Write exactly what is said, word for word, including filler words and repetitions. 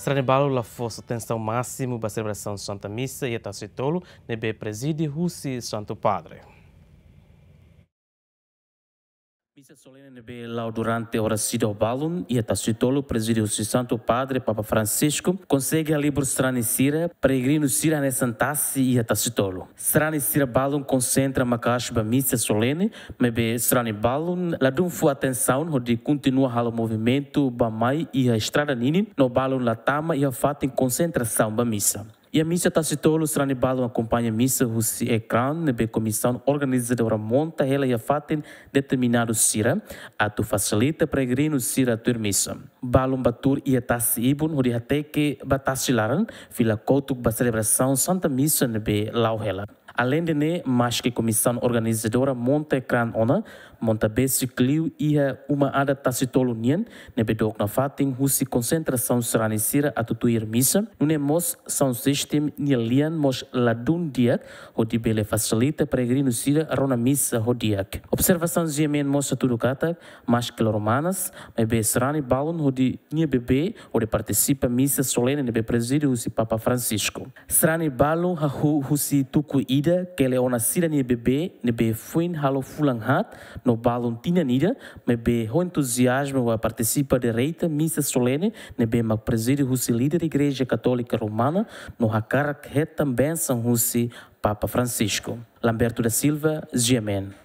Sarani balun la fó atensaun másimu ba selebrasaun Santa Misa iha Tasitolu ne'ebé prezide husi Santu Padre. Misa solene ne'ebé la'o durante oras seidauk balun iha Tasitolu, prezide husi Santu Padre Papa Francisco, konsege halibur sarani sira, peregrinu sira hanesan tasi iha Tasitolu. Sarani sira balun konsentra maka'as ba misa solene, maibé sarani balun ladún fó atensaun hodi kontinua halo movimentu bá-mai iha estrada ninin, no balun la tama iha fatin konsentrasaun ba misa. Iha misa Tasitolu, sarani balun akompaña misa husi ekrán ne'ebé komisaun organizadora monta hela iha fatin determinadu sira, atu fasilita peregrinu sira tuir misa. Balun bá tuur iha tasi ibun hodi hateke ba tasi laran, fila kotuk ba selebrasaun Santa Misa ne'ebé la'o hela. Aleinde ne'e, maske komisaun organizadora monta ekrán ona, monta besik liu iha uma adat Tasitolu nian, ne'ebé dook nafatin husi konsentrasaun sarani sira atu tuir misa, nune'e mós sound system nia lian mós ladún di'ak, hodi bele fasilita peregrinu sira rona misa ho di'ak. Observasaun GMN mós hatudu katak, maske loro manas, maibé sarani balun hodi nia bebé hodi partisipa misa solene ne'ebé prezide husi Papa Francisco. Sarani balun hahú husi tuku ida, kele ona sira-nia bebé ne'ebé foin halo fulan haat no balun tinan ida, maibé ho entuziazmu bá partisipa direta misa solene ne'ebé mak prezide husi líder Igreja Katólika Romana no hakarak hetan bensaun husi Papa Francisco. Lamberto da Silva, GMN.